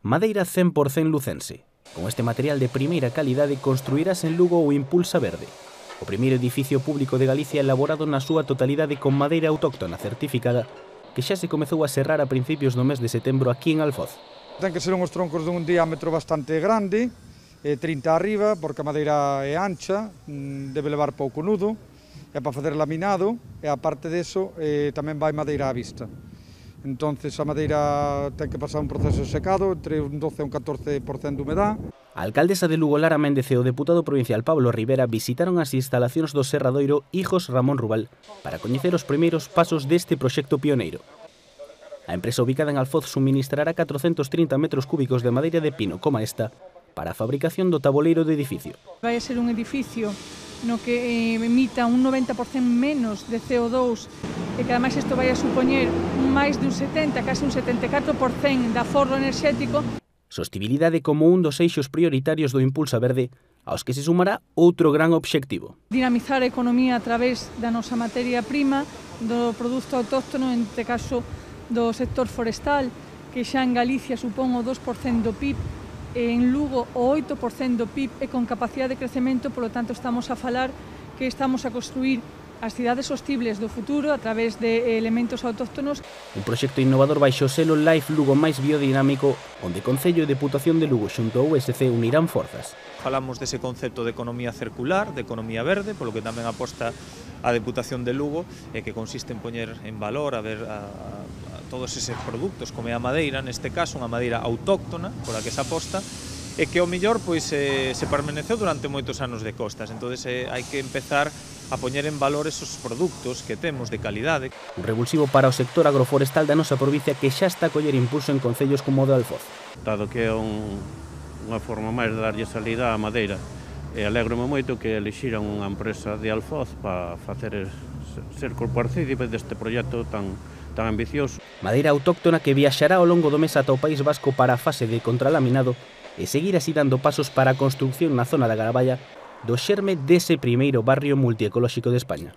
Madeira 100% lucense. Con este material de primeira calidade construirás en Lugo o Impulsa Verde, o primeiro edificio público de Galicia elaborado na súa totalidade con madeira autóctona certificada, que xa se comezou a serrar a principios do mes de setembro aquí en Alfoz. Ten que ser uns troncos dun diámetro bastante grande, 30 arriba, porque a madeira é ancha, debe levar pouco nudo, é para facer laminado, e aparte deso tamén vai madeira á vista. Entonces a madeira ten que pasar un proceso de secado, entre un 12 e un 14% de humedad. A alcaldesa de Lugo, Lara Méndez, e o deputado provincial Pablo Rivera visitaron as instalacións do Serradoiro Hijos Ramón Rubal para coñecer os primeiros pasos deste proxecto pioneiro. A empresa ubicada en Alfoz suministrará 430 metros cúbicos de madeira de pino como esta para a fabricación do taboleiro do edificio. Vai a ser un edificio no que emita un 90% menos de CO2 e que ademais isto vai a supoñer máis de un 70, case un 74% de aforro enerxético. Sostibilidade como un dos eixos prioritarios do Impulsa Verde, aos que se sumará outro gran obxectivo. Dinamizar a economía a través da nosa materia prima, do produto autóctono, en este caso do sector forestal, que xa en Galicia supón o 2% do PIB, en Lugo o 8% do PIB e con capacidade de crecemento, polo tanto estamos a falar que estamos a construir as cidades sostibles do futuro a través de elementos autóctonos. Un proxecto innovador baixo o selo Life Lugo máis biodinámico, onde Concello e Deputación de Lugo xunto ao USC unirán forzas. Falamos dese concepto de economía circular, de economía verde, polo que tamén aposta a Deputación de Lugo, que consiste en poñer en valor a todos eses produtos, como é a madeira, neste caso unha madeira autóctona, pola que se aposta, e que ao mellor se permaneceu durante moitos anos de costas. Entonces hai que empezar a poñer en valor esos produtos que temos de calidade. Un revulsivo para o sector agroforestal da nosa provincia que xa está a coller impulso en concellos como o de Alfoz. Dado que é unha forma máis de darlle salida á madeira, e alegro-me moito que elixiran unha empresa de Alfoz para ser copartícipe deste proxecto tan ambicioso. Madeira autóctona que viaxará ao longo do mes ata o País Vasco para a fase de contralaminado e seguir así dando pasos para a construcción na zona da Garaballa do xerme dese primeiro barrio multiecolóxico de España.